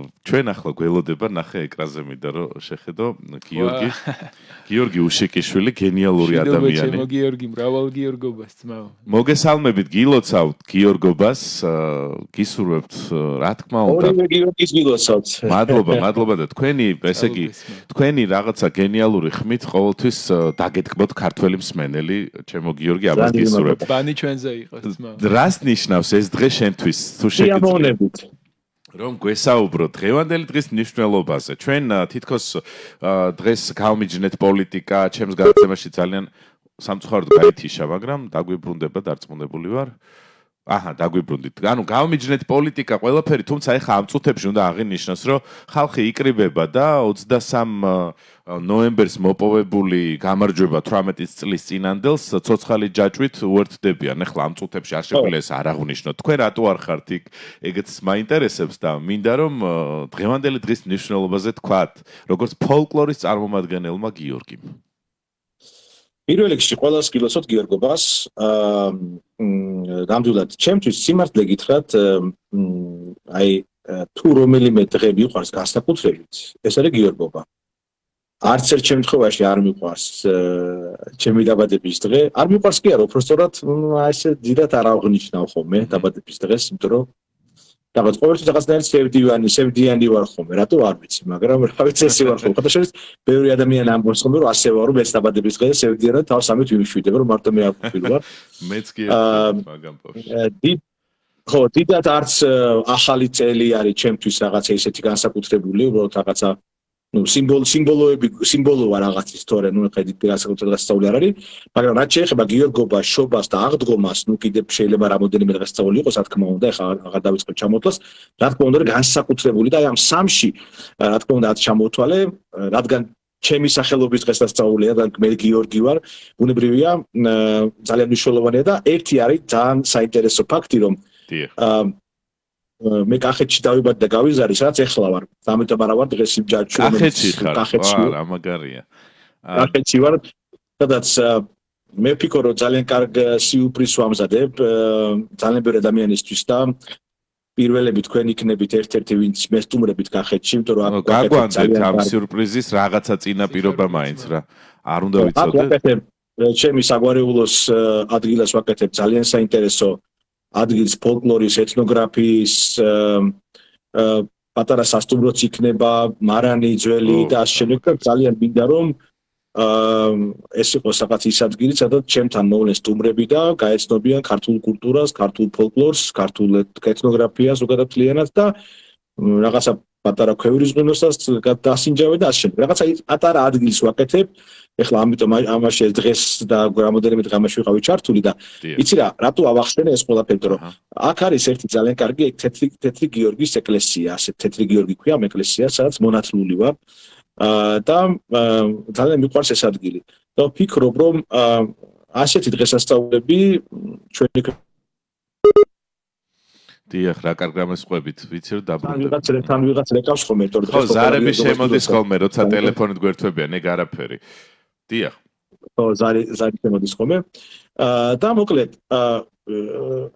ჩვენ ახლა გველოდება ნახე ეკრანზე მინდა რომ შეხედო გიორგი უშიკიშვილი გენიალური ადამიანი. გიორგი მრავალ გიორგობას ძმაო. მოგესალმებით გილოცავთ გიორგობას, გისურვებთ რა თქმა უნდა. ორივე გიორგის გილოცავთ. მადლობა და თქვენი, ესე იგი, თქვენი რაღაცა გენიალური ხმით ყოველთვის დაგეთქმოთ ქართველი მსმენელი, ჩემო გიორგი, ამას გისურვებთ. ბანი ჩვენზე იყოს ძმაო. რას ნიშნავს ეს დღე შენთვის? თუ შეგიძლიათ რომ გვესაუბროთ დღევანდელი დღის მნიშვნელობაზე. ჩვენ თითქოს დღეს გავმიჯნეთ პოლიტიკა, ჩემს გადაცემაში ძალიან სამწუხაროდ გაითიშა, მაგრამ დაგვიბრუნდება, დარწმუნებული ვარ. დაგვიბრუნდით. ანუ გავმიჯნეთ პოლიტიკა ყველაფერი, თუმცა ეხა ამ წუთებში უნდა აღინიშნოს, რომ ხალხი იკრიბება და 23 ნოემბერს მოპოვებული გამარჯვება 18 წლის წინანდელს ცოცხალი ჯაჭვით უერთდებიან. ეხლა ამ წუთებში არ შეგვიძლია ეს არ აღნიშნოთ. თქვენ რატო არ ხართ იქ? ეგეც მაინტერესებს და მინდა რომ დღევანდელი დღის მნიშვნელობაზე თქვათ, როგორც ფოლკლორის წარმომადგენელმა გიორგიმ. პირველ რიგში ყველას გილოცავთ გიორგობას. ნამდვილად ჩემთვის სიმართლე გითხრათ, თუ რომელიმე დღე მიყვარს განსაკუთრებით, ეს არის გიორგობა. არც ერთ შემთხვევაში არ მიყვარს ჩემი დაბადების დღე. არ მიყვარს კი არა, უბრალოდ ესე დიდად არ აღნიშნავ ხოლმე დაბადების დღეს, იმიტომ რომ რაღაც ყოველთვის რაღაცნაირად სევდიანი ვარ ხოლმე, რატო არ ვიცი, მაგრამ რა ვიცი ესე ვარ ხოლმე. ხოთაშორის ბევრი ადამიანი ამბობს ხოლმე, რომ ასე ვარ, რომ მეც დაბადების დღეს სევდიანად თავს ამით ვიმშვიდებ, რომ მარტო მე არ ვფიქრ ვარ. მეც კი მაგამ პოვში. ხო, დიდად არც ახალი წელი არის ჩემთვის რაღაცა ისეთი განსაკუთრებული, უბრალოდ რაღაცა სიმბოლოა რაღაცის, თორე ხედით განსაკუთრებული დღესასწაული არ არის, მაგრამ რაც შეეხება გიორგობას, შობას და აღდგომას, კიდევ შეიძლება რამოდენიმე დღესასწაული იყოს, რა თქმა უნდა, ეხლა აღარ დავიწყებ ჩამოთვლას, რა თქმა უნდა, განსაკუთრებული და ამ სამში, რა თქმა უნდა, ჩამოთვალე, რადგან ჩემი სახელობის დღესასწაულია და მე გიორგი ვარ, ბუნებრივია, ძალიან მნიშვნელოვანია და ერთი არის ძალიან საინტერესო ფაქტი, რომ მე კახეთში დავიბადე და გავიზარდე, სადაც ეხლა ვარ. ამიტომ არა ვარ დღეს იმ ჯაჭვში. კახეთში ხარ? რა მაგარია. კახეთში ვარ, სადაც მე ვფიქრობ, რომ ძალიან კარგ სიურპრიზს ვამზადებ ძალიან ბევრი ადამიანისთვის და პირველები თქვენ იქნებით ერთ-ერთი, ვინც მესტუმრებით კახეთში, იმიტომ რომ გაგვანძეთ ამ სიურპრიზის რაღაცა წინაპირობა მაინც რა. არ უნდა ვიცოდე. ჩემი საგვარეულოს ადგილას ვაკეთებ ძალიან საინტერესო ადგილს ფოლკლორის, ეთნოგრაფიის, პატარა სასტუმროც იქნება, მარანი, ძველი და ასე შემდეგ. ძალიან მინდა რომ ეს იყოს რაღაც ის ადგილი, სადაც ჩემთან მოვლენ სტუმრები და გაეცნობიან ქართულ კულტურას, ქართულ ფოლკლორს, ქართულ ეთნოგრაფიას უკეთებლიანად და რაღაცა პატარა ქვევრის ღვინოსაც დასინჯავენ და ასე შემდეგ. რაღაცა პატარა ადგილს ვაკეთებ. ეხლა ამიტომ ამაში დღეს და რამოდენიმე დღე ამაში ვიყავი ჩართული და იცი რა, რატო ავახსენე ეს ყველაფერი, რომ აქ არის ერთი ძალიან კარგი თეთრი გიორგის ეკლესია, ასე თეთრი გიორგი ქვია ამ ეკლესიას, სადაც მონათლული ვარ და ძალიან მიყვარს ეს ადგილი. და ვფიქრობ, რომ ასეთი დღესასწაულები ჩვენი დიახ, რა კარგ რამესყვებით, ვიცი რომ დაბრუნდება. თან ვიღაც რეკავს ხოლმე, თორე ხო, ზარები შემოდის ხოლმე, როცა ტელეფონით გვერდთვებიან, ეგ არაფერი. დიახ. ხო, ზარი შემოდის ხოლმე. და მოკლედ,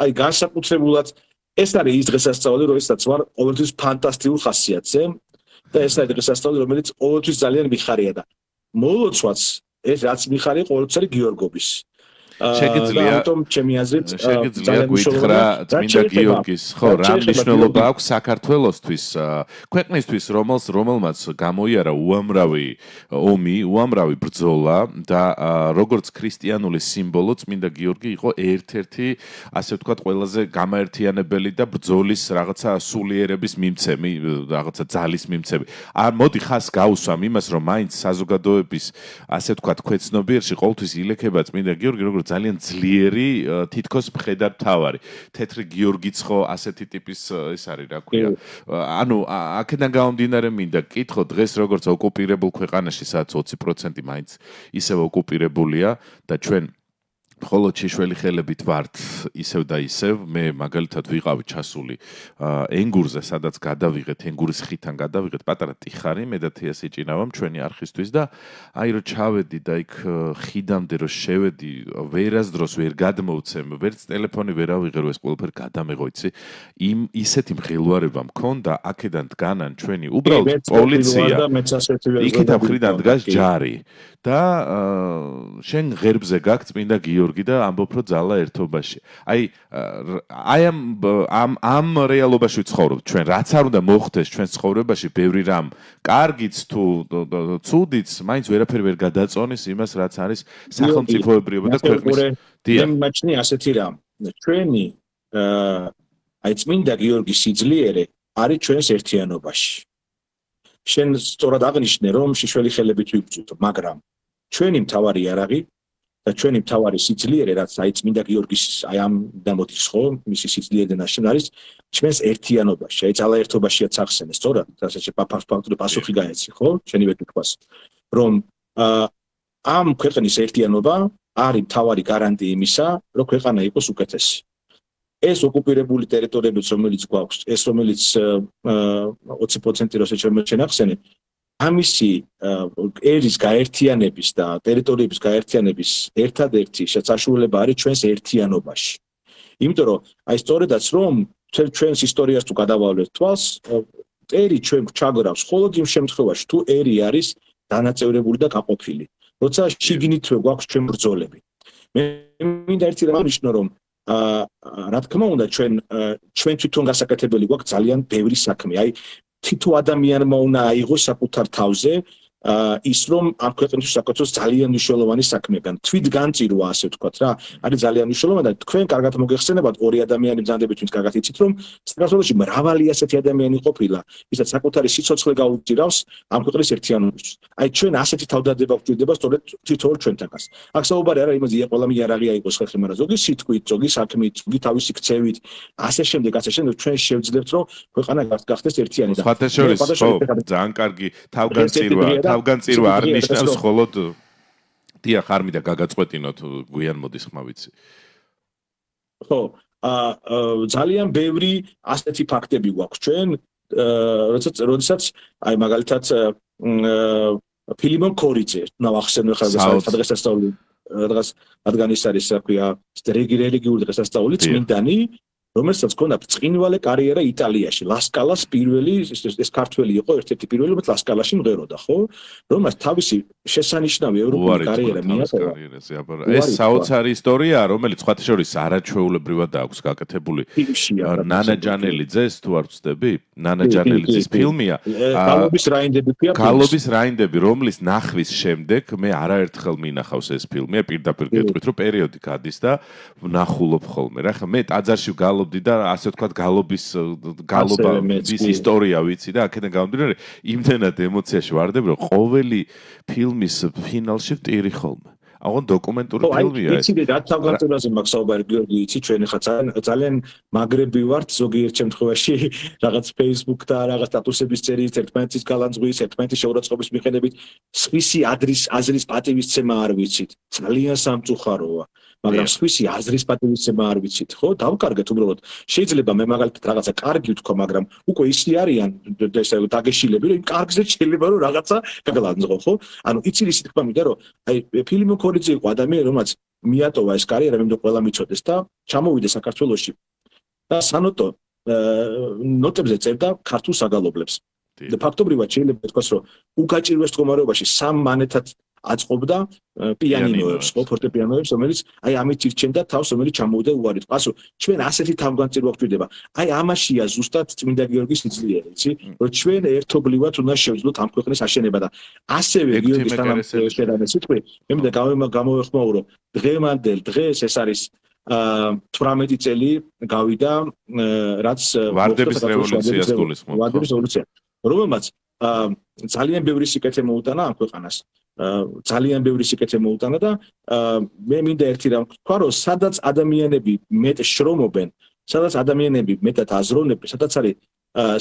აი განსაკუთრებულად ეს არის ის დღესასწაული, როდესაც ვარ ყოველთვის ფანტასტიკურ ხასიათზე და ეს არის დღესასწაული, რომელიც ყოველთვის ძალიან მიხარია და მოლოცვაც ეს რაც მიხარია ყოველთვის არის გიორგობის. შეგიძლია გითხრა წმინდა გიორგის, ხო, რა მნიშვნელობა აქვს საქართველოსთვის, ქვეყნისთვის, რომელმაც გამოიარა უამრავი ომი, უამრავი ბრძოლა და როგორც ქრისტიანული სიმბოლო წმინდა გიორგი იყო ერთ-ერთი, ასე ვთქვათ, ყველაზე გამაერთიანებელი და ბრძოლის რაღაცა სულიერების მიმცემი, რაღაცა ძალის მიმცემი. მოდი ხას გავუსვამ იმას, რომ მაინც საზოგადოების, ასე ვთქვათ, ქვეცნობიერში ყოველთვის ილექება წმინდა გიორგი, როგორც ძალიან ძლიერი თითქოს მხედართავარი. თეთრი გიორგიც ხო ასეთი ტიპის ეს არის, რა ქვია. ანუ აქედან გამომდინარე მინდა კითხო, დღეს როგორც ოკუპირებულ ქვეყანაში, სადაც 20% მაინც ისევ ოკუპირებულია და ჩვენ ხოლო შეშველი ხელებით ვართ ისევ და ისევ მე მაგალითად ვიყავი ჩასული ენგურზე სადაც გადავიღეთ ენგურის ხიდან გადავიღეთ პატარა ტიხარი მე და თეას ეჭინავამ ჩვენი არხისთვის და აი რომ ჩავედი და იქ ხიდამდე რომ შევედი ვერასდროს ვერ გადმოვცემ ვერც ტელეფონი ვერ ავიღე რომ ეს ყველაფერი გადამეღო იცი ისეთი მღელვარება მქონდა აქედან დგანან ჩვენი უბრალოდ პოლიცია იქით ამხრიდან დგას ჯარი და შენ ღერბზე გაქვს წმინდა გიორგი და ამბობ რომ ძალა ერთობაში. აი ამ რეალობაში ვცხოვრობ ჩვენ რაც არ უნდა მოხდეს ჩვენ ცხოვრებაში ბევრი რამ კარგიც თუ ცუდიც მაინც ვერაფერი ვერ გადაწონის იმას რაც არის სახელმწიფოებრიობა და ქვეყნის მე მაჩნი ასეთი რამ ჩვენი აი წმინდა გიორგის სიძლიერე არის ჩვენს ერთიანობაში. შენ სწორად აღნიშნე რომ შეშველი ხელებით ვიბრძვით მაგრამ ჩვენი მთავარი იარაღი და ჩვენი მთავარი სიძლიერე რაც აი წმინდა გიორგის აი ამ დამოდის ხო მისი სიძლიერე ნაშენ არის ჩვენს ერთიანობაში აი ძალა ერთობაშია წახსენე სწორად რასაც ფაქტური პასუხი გაეცი ხო შენივე თქვას რომ ამ ქვეყნის ერთიანობა არის მთავარი გარანტია იმისა რომ ქვეყანა იყოს უკეთესი ეს ოკუპირებული ტერიტორიებიც რომელიც გვაქვს ეს რომელიც 20% როცა შემოჩენახსენე ამისი ერის გაერთიანების და ტერიტორიების გაერთიანების ერთადერთი საშუალება არის ჩვენს ერთიანობაში. იმიტომ რომ აი სწორედაც რომ ჩვენს ისტორიას თუ გადავალვეთ თვალს, ერი ჩვენ ჩაგრავს მხოლოდ იმ შემთხვევაში თუ ერი არის დანაწევრებული და გაყოფილი. როცა შიგნითვე გვაქვს ჩვენ ბრძოლები. მე მინდა ერთი რამ ნიშნო რომ რა თქმა უნდა ჩვენ თვითონ გასაკეთებელი გვაქვს ძალიან ბევრი საქმე. აი თითო ადამიანმა უნდა აიღოს საკუთარ თავზე ის რომ ამ ქვეყნის საკუთროს ძალიან მნიშვნელოვანი საქმეა. თვითგანწირვა ასე ვთქვათ რა. არის ძალიან მნიშვნელოვანი და თქვენ კარგად მოგეხსენებათ ორი ადამიანი ბრძანდებით ვინც კარგად იცით რომ საქართველოში მრავალი ასეთი ადამიანი ყოფილა, ვისაც საკუთარი სიცოცხლე გაუწირავს ამ ქვეყნის ერთიანობას. აი ჩვენ ასეთი თავდადება გვჭირდება სწორედ თითოეულ ჩვენთანაც. აქ საუბარი არა იმაზე ყველა იარაღი აიღოს ხალხი, მაგრამ ზოგი სიტყვით, ზოგი საქმით, ზოგი თავისი ქცევით, ასე შემდეგ ჩვენ შევძლებთ რომ ქვეყანა გახდეს ერთიანი და სხვათა შორის ხო ძალიან კარგი თავგანწირვა არ ნიშნავს მხოლოდ დიახ არ მინდა გაგაწყვეტინოთ გვიან მოდის ხმა ვიცი ხო ძალიან ბევრი ასეთი ფაქტები გვაქვს ჩვენ როდესაც აი მაგალითად ფილიმონ კორიძე ნავახსენე ხარ დღესასწაული რაღაც რადგან ის არის რა ქვია რელიგიური დღესასწაული წმინდანი რომელსაც ჰქონდა ბრწყინვალე კარიერა იტალიაში. ლასკალას პირველი ეს ქართველი იყო ერთ-ერთი პირველი, რომელიც ლასკალაში მღეროდა, ხო? რომელსაც თავისი შესანიშნავი ევროპული კარიერა მიატოვა. ეს საოცარი ისტორიაა, რომელიც სხვათა შორის არაჩვეულებრივად აქვს გაკეთებული. ნანა ჯანელიძეს თუ არ ვცდები? ნანა ჯანელიძის ფილმია. გალობის რაინდები, რომლის ნახვის შემდეგ მე არაერთხელ მინახავს ეს ფილმი, პირდაპირ გეტყვით, რომ პერიოდი გადის და ვნახულობ ხოლმე. რა ხა მე ტაძარში და ასე ვთქვათ გალობის ისტორია ვიცი და აქედან გამომდინარე იმდენად ემოციაში ვარდები რომ ყოველი ფილმის ფინალში ვტირი ხოლმე. აღონ დოკუმენტური ფილმია ეს. იცი რა თავგანწირვაზე მაქვს საუბარი გიორგი იცი ჩვენ ხა ძალიან მაგრები ვართ ზოგიერთ შემთხვევაში რაღაც Facebook და რაღაც სტატუსების წერით ერთმანეთის გალანძღვის ერთმანეთის შეურაცხყოფის მიხედებით სხვისი აზრის პატივისცემა არ ვიცით. ძალიან სამწუხაროა. მაგრამ სხვისი აზრის პატივისცემა არ ვიცით, ხო? დავკარგეთ უბრალოდ. შეიძლება მე მაგალითად რაღაცა კარგი ვთქვა, მაგრამ უკვე ისე არიან ესე დაგეშილები, რომ იმ კარგზე შეიძლება რომ რაღაცა გაგლანძღო, ხო? ანუ იცი ისი თქვა მინდა რომ აი ფილმო კორიძე იყო ადამიანი, რომელსაც მიატოვა ეს კარიერა, მე მინდა ყველა მიცოდეს და ჩამოვიდა საქართველოში. და სანოტო ნოტებზე წერდა ქართულ საგალობლებს. და ფაქტობრივად შეიძლება ითქვას, რომ უგაჭირვეს მდგომარეობაში სამ მანეთად აწყობდა პიანინოებს, ხო, ფორტეპიანოებს, რომელიც აი ამით ირჩენდა თავს, რომელიც ჩამოვიდა უარით. პასო, ჩვენ ასეთი თავგანწირვა გვჭირდება. აი ამაშია ზუსტად წმინდა გიორგის სიძლიერე, იცი? რომ ჩვენ ერთობლივად უნდა შევძლოთ ამ ქვეყნის აშენება და ასევე გიორგის თანამშრომლობისგან სიტყვი, მე მინდა გამოვეხმაურო დღევანდელ დღეს ეს არის 18 წელი გავიდა რაც ვარდების რევოლუციას გულისხმობ. ვარდების რევოლუცია, რომელმაც ძალიან ბევრი სიკეთე მოუტანა ამ ქვეყანას. ძალიან ბევრი სიკეთე მოუტანა და მე მინდა ერთი რამ ვთქვა, რომ სადაც ადამიანები მეტ შრომობენ, სადაც ადამიანები მეტად აზროვნებენ, სადაც არის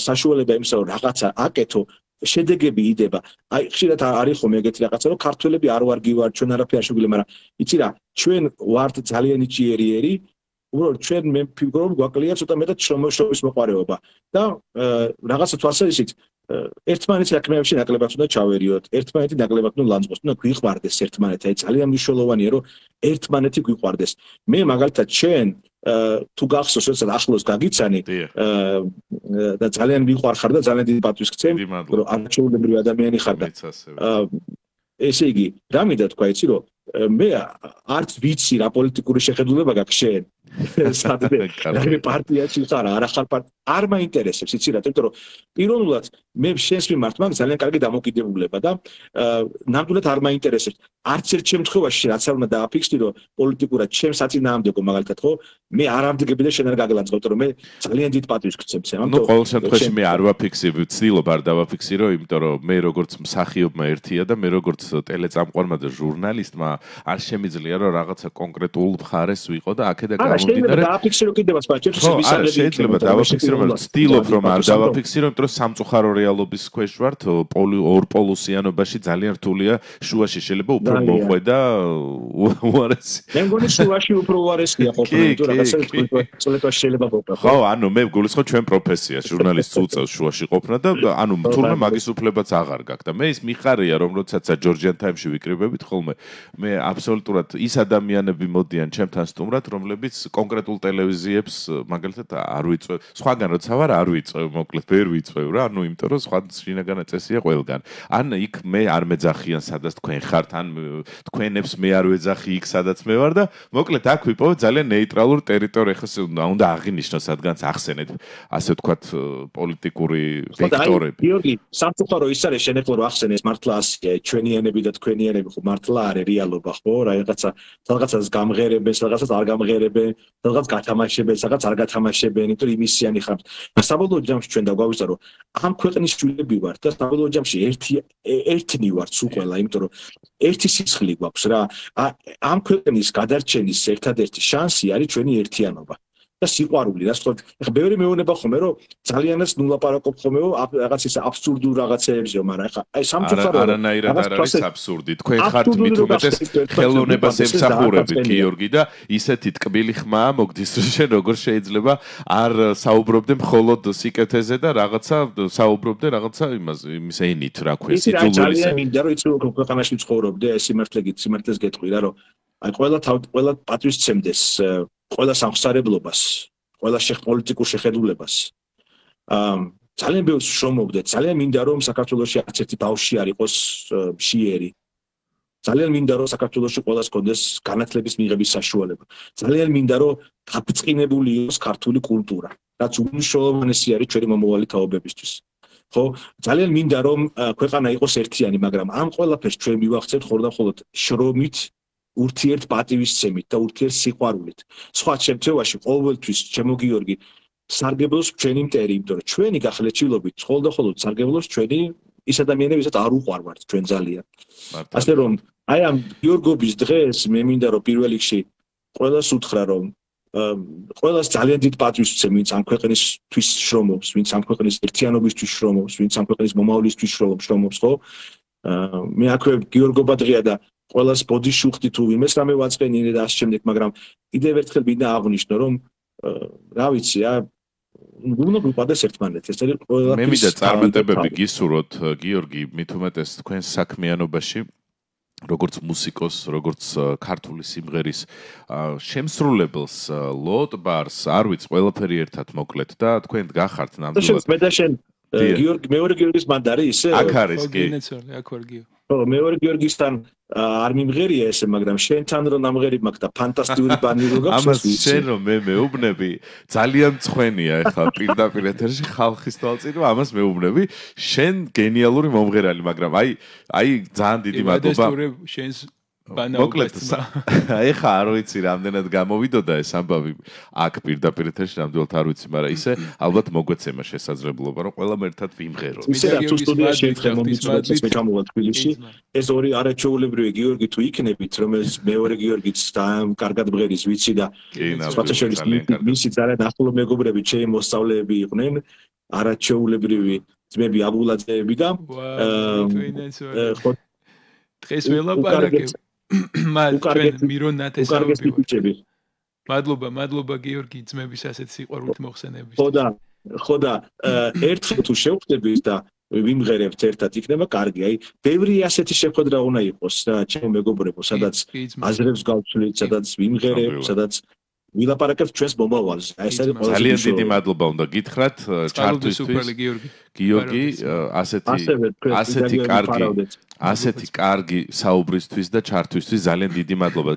საშუალება იმისა, რომ რაღაცა აკეთო, შედეგები იდება. აი ხშირად არის ხომ ეგეთი რაღაცა, რომ ქართველები არ ვარ გივარ, ჩვენ არაფერი არ შეგვიძლია, მაგრამ იცი რა, ჩვენ ვართ ძალიან იჭიერიერი, უბრალოდ ჩვენ მე ფიქრობ გვაკლია ცოტა მეტად შრომის მოყარეობა და რაღაცა თვალსაზრისით ერთმანეთის საქმეებში ნაკლებად უნდა ჩავერიოთ, ერთმანეთი ნაკლებად უნდა ლანძღოს, უნდა გვიყვარდეს ერთმანეთი, აი ძალიან მნიშვნელოვანია, რომ ერთმანეთი გვიყვარდეს. მე მაგალითად ჩვენ თუ გახსოვს, როცა ახლოს გაგიცანი და ძალიან მიყვარხარ და ძალიან დიდი პატვის გცემ, რომ არჩეულებრივი ადამიანი ხარ და ესე იგი, რა მინდა თქვა, იცი რომ მე არც ვიცი რა პოლიტიკური შეხედულება გაქვს შენ. სადმე პარტიაში ხარ, არა ხარ არ მაინტერესებს, იცი რა, იმიტომ რომ პიროვნულად მე შენს მიმართ მაქვს ძალიან კარგი დამოკიდებულება და ნამდვილად არ მაინტერესებს. არც ერთ შემთხვევაში რაც არ უნდა დააფიქსდი, რომ პოლიტიკურად ჩემს საწინააღმდეგო მაგალითად ხო, მე არ ამდგები და შენ არ გაგლანძღავ, იმიტომ რომ მე ძალიან დიდ პატივს გცემ. ნუ ყოველ შემთხვევაში მე არ ვაფიქსებ, ვცდილობ არ დავაფიქსირო, იმიტომ რომ მე როგორც მსახიობმა ერთია და მე როგორც ტელეწამყვარმა და ჟურნალისტმა არ შემიძლია რომ რაღაცა კონკრეტულ მხარეს ვიყო და აქედან შეიძლება დააფიქსირო კიდევაც ბაჭებს ვისალები შეიძლება დავაფიქსირო მაგრამ ვცდილობ რომ არ დავაფიქსირო იმიტომ რომ სამწუხარო რეალობის ქვეშ ვართ ორპოლუსიანობაში ძალიან რთულია შუაში შეიძლება უფრო მოხვედა უარესი მე მგონი შუაში უფრო უარესია ყოფილი თუ რაღაცა წლეტვა შეიძლება ყოფნა ხო ანუ მე გულისხმობ ჩვენ პროფესია ჟურნალისტს უწევს შუაში ყოფნა და ანუ თურმე მაგის უფლებაც აღარ გაქვს და მე ის მიხარია რომ როდესაც ჯორჯიან თაიმში ვიკრიბებით ხოლმე მე აბსოლუტურად ის ადამიანები მოდიან ჩემთან სტუმრად რომლებიც კონკრეტულ ტელევიზიებს მაგალითად არ ვიწევ. სხვაგან როცა ვარ არ ვიწევ, მოკლედ ვერ ვიწევ რა, ანუ იმიტომ რომ სხვა შინაგანა წესია ყველგან. ან იქ მე არ მეძახიან სადაც თქვენ ხართ, ან თქვენებს მე არ ვეძახი იქ სადაც მე ვარ და მოკლედ აქ ვიპოვე ძალიან ნეიტრალურ ტერიტორიას, ეხლა უნდა აღინიშნოს რადგანაც ახსენეთ ასე ვთქვათ პოლიტიკური ვექტორები. გიორგი, სამწუხარო ის არის შენ ეხლა რომ ახსენე ეს მართლა ასია, ჩვენიანები და თქვენიანები ხო მართლა არის რეალობა ხო, რაღაცას გამღერებენ, რაღაცას არ გამღერებენ, რაღაც გათამაშებენ, რაღაც არ გათამაშებენ, იმიტომ რომ იმისიანი ხართ. საბოლოო ჯამში ჩვენ დაგვავიწყდა რომ ამ ქვეყნის შვილები ვართ და საბოლოო ჯამში ერთნი ვართ სულ ყველა, იმიტომ რომ ერთი სისხლი გვაქვს რა. ამ ქვეყნის გადარჩენის ერთადერთი შანსი არის ჩვენი ერთიანობა. და სიყვარული, რა ვთქვათ, ეხლა ბევრი მეუბნება ხომ რომ ძალიანაც ნულაპარაკობ ხომ რაღაც ის აბსურდულ რაღაცეებზე, მაგრამ ეხლა აი სამწუხარო არანაირად არ არის აბსურდი. თქვენ ხართ მით უმეტეს ხელოვნებას ემსახურებით, გიორგი და ისეთი ტკბილი ხმაა მოგდის, რომ შენ როგორ შეიძლება არ საუბრობდე მხოლოდ სიკეთეზე და რაღაცა საუბრობდე რაღაცა იმის ენით, რა ქვია, სიძულვილის. ძალიან მინდა რომ იცი რომ ქვეყანაში ცხოვრობდე, ეს სიმართლეს გეტყვი რა, რომ აი ყველა პატვის ცემდეს ყველა სამხსარებლობას, ყველა პოლიტიკურ შეხედულებას. ძალიან ბევრს შრომობდე, ძალიან მინდა რომ საქართველოში არც ერთი ბავშვი არ იყოს მშიერი. ძალიან მინდა რომ საქართველოში ყველას კონდეს განათლების მიღების საშუალება. ძალიან მინდა რომ გაბწყინებული იყოს ქართული კულტურა, რაც უმნიშვნელოვანესი არის ჩვენი მომავალი თაობებისთვის. ხო, ძალიან მინდა რომ ქვეყანა იყოს ერთიანი, მაგრამ ამ ყველაფერს ჩვენ მივახცევთ ხოლმე შრომით ურთიერთ პატივისცემით და ურთიერთ სიყვარულით. სხვა შემთხვევაში ყოველთვის ჩემო გიორგი სარგებლობს ჩვენი მტერი, იმიტომ რომ ჩვენი გახლეჩილობით ხოლმე სარგებლობს ჩვენი ის ადამიანები, ვისაც არ უყვარვართ ჩვენ ძალიან. ასე რომ აი ამ გიორგობის დღეს მე მინდა რომ პირველ რიგში ყველას უთხრა რომ ყველას ძალიან დიდ პატივს ვცემ, ვინც ამ ქვეყნისთვის შრომობს, ვინც ამ ქვეყნის ერთიანობისთვის შრომობს, ვინც ამ ქვეყნის მომავლისთვის შრომობს, ხო? მე აქვე გიორგობა დღეა და ყველას ბოდიშუხტი თუ იმეს რამე ვაწყენინე და ასე შემდეგ, მაგრამ კიდევ ერთხელ მინდა აღვნიშნო, რომ რა ვიცი რა, უნდა გვიყვარდეს ერთმანეთი, ეს არის ყველა. მე მინდა წარმატებები გისურვოთ, გიორგი, მით უმეტეს თქვენს საქმიანობაში, როგორც მუსიკოს, როგორც ქართული სიმღერის შემსრულებელს, ლოტ ბარს, არ ვიცი, ყველაფერი ერთად მოკლედ და თქვენ გახართ ნამდვილად. მე და შენ გიორგი, მეორე გიორგის მანდარი ისე? აქ არის კი. აქ ვარ გიო. ხო, მეორე გიორგისთან არ მიმღერია ესე, მაგრამ შენთან რომ ამღერი მაქვს და ფანტასტიკური ბანი რო გაქვს. ამას შენ რომ მე მეუბნები, ძალიან მწვენია ეხლა პირდაპირ ეთერში ხალხის თვალწინ, რომ ამას მეუბნები, შენ გენიალური მომღერალი, მაგრამ აი ძალიან დიდი მადლობა. შენს მოკლედ, ეხლა არ ვიცი რამდენად გამოვიდოდა ეს ამბავი აქ პირდაპირ ეთერში, ნამდვილად არ ვიცი, მაგრამ ისე ალბათ მოგვეცემა შესაძლებლობა, რომ ყველამ ერთად ვიმღეროთ. ისე რა თუ სტუდიაში ერთხელ მომიწვევთ მე ჩამოვა თბილისში, ეს ორი არაჩვეულებრივი გიორგი თუ იქნებით, რომ ეს მეორე გიორგიც და კარგად ბღერის ვიცი და სხვათა შორის მისი ძალიან ახლო მეგობრები, ჩემი მოსწავლეები იყვნენ, არაჩვეულებრივი ძმები აგულაძეები და დღეს ველაპარაკებ მათ ჩვენ მირონ ნათესაობი მადლობა გიორგი ძმების ასეთ სიყვარულით მოხსენების ხო და ერთხელ თუ შევხვდებით და ვიმღერებთ ერთად იქნება კარგი აი ბევრი ასეთი შეხვედრა უნდა იყოს რა ჩემო მეგობრებო სადაც აზრებს გავცვლით სადაც ვიმღერებთ სადაც ვილაპარაკებთ ჩვენს მომავალს აი ეს არის ძალიან დიდი მადლობა უნდა გითხრათ ჩართვისთვის გიორგი ასეთი კარგი საუბრისთვის და ჩართვისთვის ძალიან დიდი მადლობა